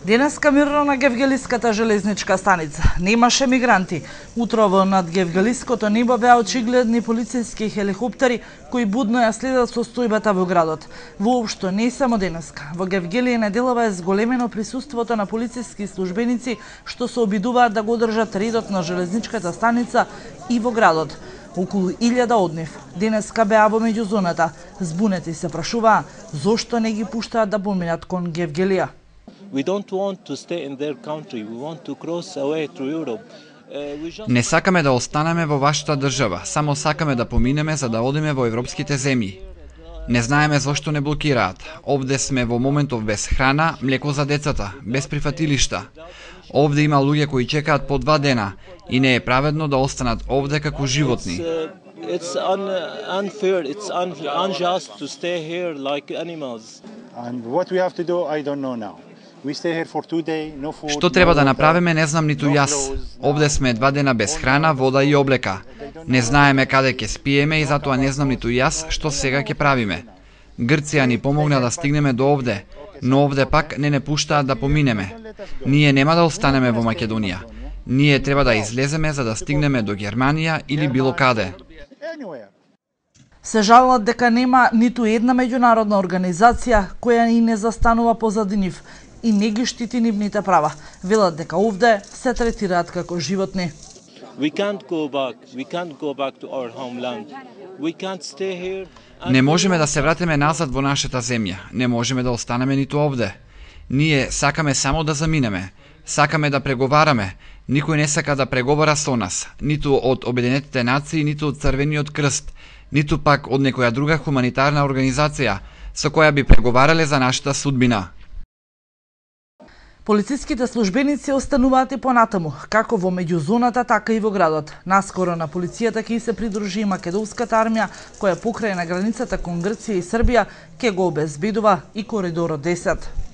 Денеска мирно на Гевгелиската железничка станица. Немаше мигранти. Утрово над Гевгелиското небо беа очигледни полициски хеликоптери кои будно ја следат состојбата во градот. Воопшто не само денеска. Во Гевгелие неделава е зголемено присуството на полициски службеници што се обидуваат да го одржат редот на железничката станица и во градот. Околу 1000 од нив денеска беа во меѓузоната. Збунети се прашуваа зошто не ги пуштаат да поминат кон Гевгелија. We don't want to stay in their country. We want to cross away to Europe. Не сакаме да останеме во вашата држава, само сакаме да поминеме за да одиме во европските земји. Не знаеме зошто не блокираат. Овде сме во моментов без храна, млеко за децата, без прифатилишта. Овде има луѓе кои чекаат по 2 дена и не е праведно да останат овде како животни. It's unfair. It's unjust to stay here like animals. And what we have to do, I don't know now. We stay here for 2 days, no food. Што треба да направиме, не знам ниту јас. Овде сме 2 дена без храна, вода и облека. Не знаеме каде ќе спиеме и затоа не знам ниту јас што сега ќе правиме. Грција ни помогна да стигнеме до овде, но овде пак не пуштаат да поминеме. Ние нема да останеме во Македонија. Ние треба да излеземе за да стигнеме до Германија или било каде. Се жалат дека нема ниту една меѓународна организација која и не застанува позади нив и не ги штити нивните права. Велат дека овде се третираат како животни. We can't go back. We can't go back to our homeland. We can't stay here. Не можеме да се вратиме назад во нашата земја. Не можеме да останеме ниту овде. Ние сакаме само да заминеме. Сакаме да преговараме. Никој не сака да преговара со нас, ниту од Обединетите нации, ниту од Црвениот крст, ниту пак од некоја друга хуманитарна организација со која би преговарале за нашата судбина. Полициските службеници остануваат и понатаму, како во меѓузоната, така и во градот. Наскоро на полицијата ќе се придружи и македонската армија, која покрај на границата кон Грција и Србија ќе го обезбедува и коридорот 10.